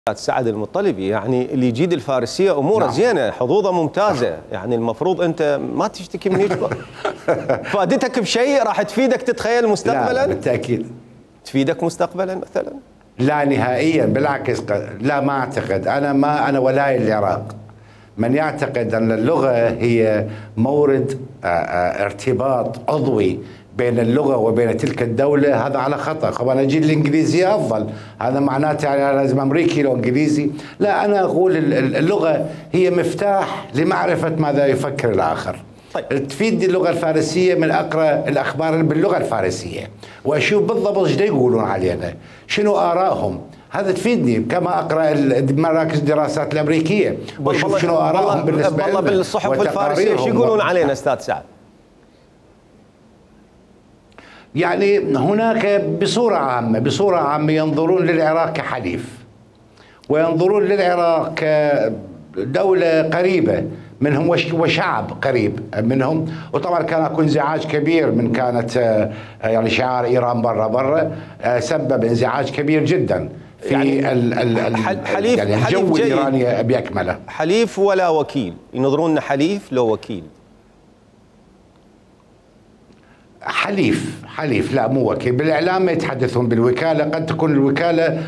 سعد المطلبي يعني اللي يجيد الفارسيه اموره زينه، حظوظه ممتازه، يعني المفروض انت ما تشتكي من هيك. فادتك بشيء راح تفيدك تتخيل مستقبلا؟ لا بالتاكيد تفيدك مستقبلا مثلا؟ لا نهائيا، بالعكس. لا، ما اعتقد. انا ولاي العراق. من يعتقد ان اللغه هي مورد ارتباط عضوي بين اللغه وبين تلك الدوله، هذا على خطا. طبعا اجي الانجليزيه افضل، هذا معناته يعني لازم امريكي لو انجليزي. لا، انا اقول اللغه هي مفتاح لمعرفه ماذا يفكر الاخر. طيب. تفيدني اللغه الفارسيه من اقرا الاخبار باللغه الفارسيه واشوف بالضبط ايش يقولون علينا، شنو ارائهم. هذا تفيدني كما اقرا مراكز الدراسات الامريكيه واشوف شنو ارائهم بالنسبه لنا. والله بالصحف الفارسيه شو يقولون علينا استاذ سعد؟ يعني هناك بصوره عامه ينظرون للعراق كحليف، وينظرون للعراق كدوله قريبه منهم وشعب قريب منهم. وطبعا كان اكو انزعاج كبير من كانت يعني شعار ايران برا سبب انزعاج كبير جدا في يعني حليف يعني الجو الايراني باكمله. حليف ولا وكيل؟ ينظرون حليف لو وكيل؟ حليف لا مو وكيل. بالاعلام ما يتحدثون بالوكاله، قد تكون الوكاله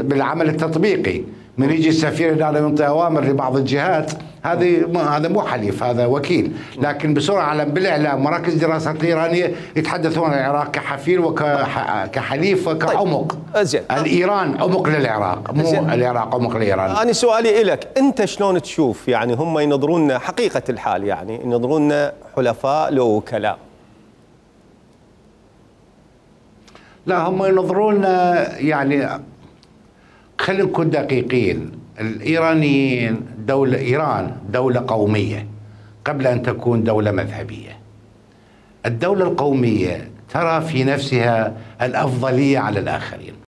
بالعمل التطبيقي، من يجي السفير هنا ينطي اوامر لبعض الجهات، هذا مو حليف، هذا وكيل. لكن بسرعه بالاعلام مراكز الدراسات الايرانيه يتحدثون عن العراق كحفير وكحليف وكعمق. زين. الايران عمق للعراق، مو العراق عمق لايران. انا سؤالي لك انت، شلون تشوف يعني هم ينظرون حقيقه الحال، يعني ينظرون حلفاء لو وكلاء؟ لا، هم ينظرون يعني خلينا نكون دقيقين. الإيرانيين إيران دولة قومية قبل أن تكون دولة مذهبية. الدولة القومية ترى في نفسها الأفضلية على الآخرين.